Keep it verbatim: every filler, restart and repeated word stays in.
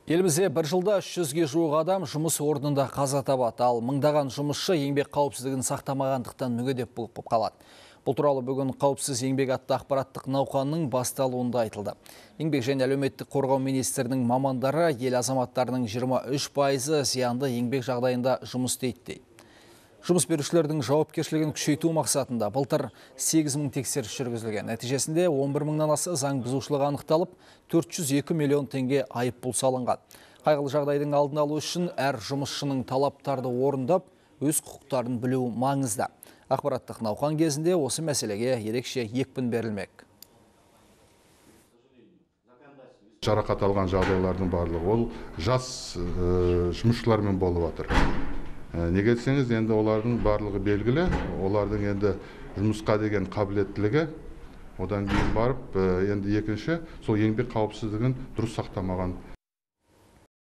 Елімізде бір жылда үш жүзге жуық адам жұмыс орнында қаза табады, ал мыңдаған жұмысшы еңбек қауіпсіздігін сақтамағандықтан мүгедек болып қалады. Бұл туралы бүгін қауіпсіз еңбек атты ақпараттық науқанның басталуында айтылды. Еңбек және әлеуметтік қорғау министрінің мамандары ел азаматтарының жиырма үш пайызы зиянды еңбек жағдайында жұмыс істейді дейді. Жұмыс берушілердің жауапкершілігін күшейту мақсатында былтыр сегіз мың тексеріс жүргізілген. Нәтижесінде он бір мыңнан аса заң бұзушылығы анықталып, төрт жүз екі миллион теңге айыппұл салынған. Қайғылы жағдайдың алдын алу үшін әр жұмысшының талаптарды орындап, өз құқықтарын білуі маңызды. Ақпараттық науқан кезінде осы мәселеге ерекше екпін берілмек. Жарақат алған жағдайлардың барлығы ол жас жұмысшылармен болып жатыр. Неге десеңіз, енді олардың барлығы белгілі, олардың енді жұмысқа деген қабілеттілігі, одан кейін барып, енді екінші, сол еңбек қауіпсіздігін дұрыс сақтамаған